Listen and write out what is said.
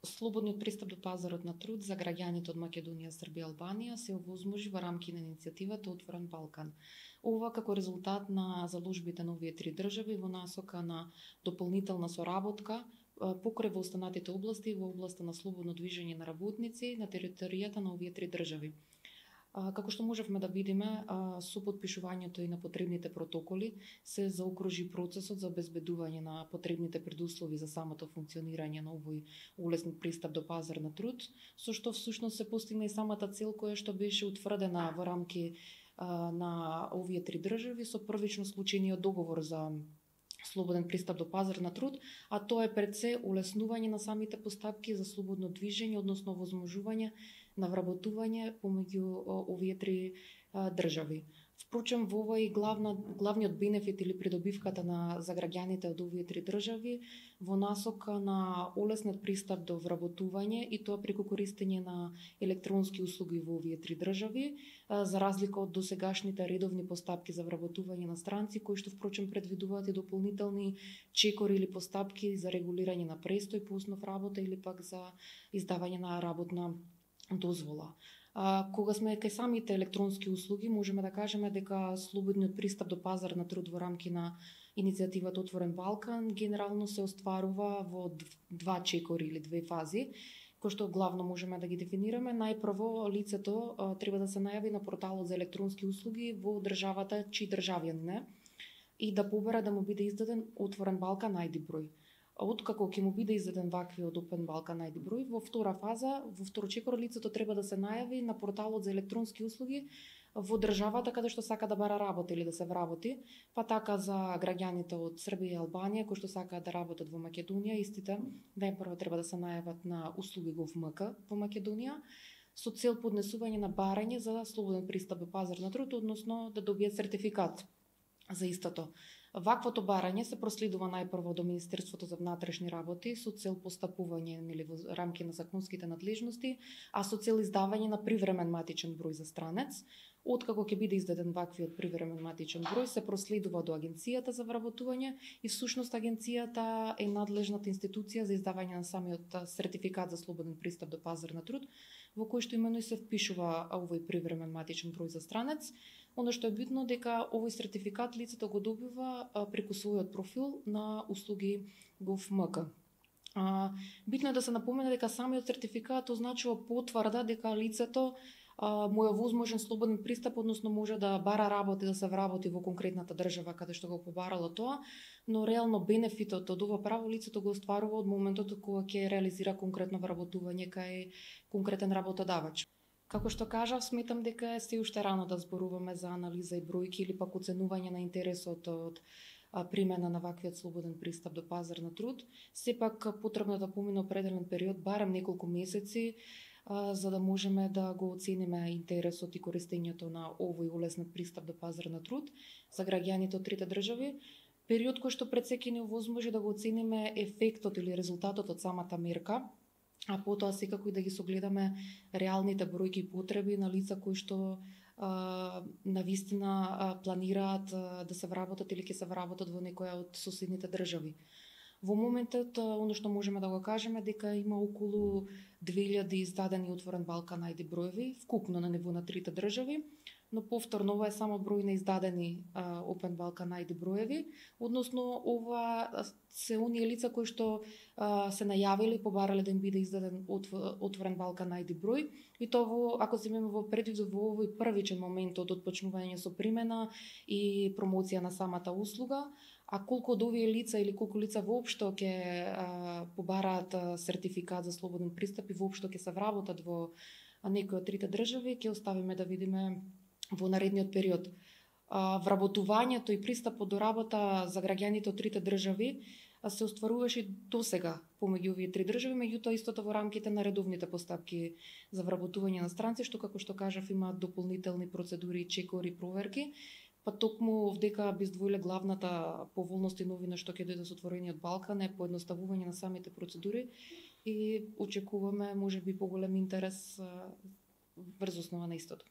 Слободниот пристап до пазарот на труд за граѓаните од Македонија, Србија и Албанија се овозможи во рамки на иницијативата Отворен Балкан. Ова како резултат на заложбите на овие три држави во насока на дополнителна соработка покрај во останатите области во областа на слободно движење на работници на територијата на овие три држави. Како што можевме да видиме, со потпишувањето и на потребните протоколи се заокружи процесот за обезбедување на потребните предуслови за самото функционирање на овој улеснет пристап до пазар на труд, со што всушност се постигна и самата цел која што беше утврдена во рамки на овие три држави со првично склучениот договор за слободен пристап до пазар на труд, а тоа е пред се улеснување на самите постапки за слободно движење, односно возможување на вработување помеѓу овие три држави. Впрочем, во ова и главниот бенефит или придобивката за граѓаните од овие три држави во насока на олеснет пристап до вработување и тоа преку користење на електронски услуги во овие три држави, за разлика од досегашните редовни постапки за вработување на странци, кои што впрочем предвидуваат и дополнителни чекори или постапки за регулирање на престој по основ работа или пак за издавање на работна дозвола. Кога сме кај самите електронски услуги, можеме да кажеме дека слободниот пристап до пазар на труд во рамки на иницијативата Отворен Балкан генерално се остварува во два чекори или две фази, кои што главно можеме да ги дефинираме. Најпрво, лицето треба да се најави на порталот за електронски услуги во државата чиј државјанин е и да побара да му биде издаден Отворен Балкан ID број. Откако ќе му биде издаден ваквиот Отворен Балкан ID број, во втора фаза, во втор чекор, лицето треба да се најави на порталот за електронски услуги во државата каде што сака да бара работа или да се вработи, па така за граѓаните од Србија и Албанија кои што сакаат да работат во Македонија, истите најпрво треба да се најават на услуги GovMK во Македонија со цел поднесување на барање за слободен пристап до пазар на труд, односно да добијат сертификат за истото. Ваквото барање се проследува најпрво до Министерството за внатрешни работи со цел постапување или во рамки на законските надлежности, а со цел издавање на привремен матичен број за странец. Откако ќе биде издаден ваквиот привремен матичен број, се проследува до Агенцијата за вработување и всушност Агенцијата е надлежната институција за издавање на самиот сертификат за слободен пристап до пазар на труд, во кој што имено и се впишува овој привремен матичен број за странец. Оно што е битно дека овој сертификат лицето го добива преку својот профил на услуги GovMK. Битно е да се напомене дека самиот сертификат означува потврда дека лицето му е возможен слободен пристап, односно може да бара работа и да се вработи во конкретната држава каде што го побарало тоа, но реално бенефитот од ова право лицето го остварува од моментот кога ќе реализира конкретно вработување кај конкретен работодавач. Како што кажав, сметам дека е се уште рано да зборуваме за анализа и бројки или пак оценување на интересот од примена на ваквиот слободен пристап до пазар на труд. Сепак потребно да помине определен период, барем неколку месеци, за да можеме да го оцениме интересот и користењето на овој улеснет пристап до пазар на труд за граѓаните од трите држави. Период кој што пред се ќе ни овозможи да го оцениме ефектот или резултатот од самата мерка, а потоа секако и да ги согледаме реалните бројки и потреби на лица кои што навистина планираат да се вработат или ќе се вработат во некоја од соседните држави. Во моментот, оно што можеме да го кажеме дека има околу 2000 издадени Отворен Балкан ID броеви, вкупно на ниво на трите држави, но повторно ова е само број на издадени Отворен Балкан ID броеви, односно ова се оние лица кои што се најавили, побарале да им биде издаден Отворен Балкан ID број, и тоа ако земеме во предвид во овој првичен момент од отпочнување со примена и промоција на самата услуга, а колку од овие лица или колку лица воопшто ќе побараат сертификат за слободен пристап и воопшто ќе се вработат во некој од трите држави, ќе оставиме да видиме во наредниот период. Вработувањето и пристапот до работа за граѓаните од трите држави се остваруваше досега помеѓу овие три држави, меѓутоа истото во рамките на редовните постапки за вработување на странци, што како што кажав има дополнителни процедури, чекори, проверки, па токму вдека би издвоиле главната поволност и новина што ќе дојде со Отворениот Балкан е поедноставување на самите процедури и очекуваме можеби поголем интерес врз основа на истото.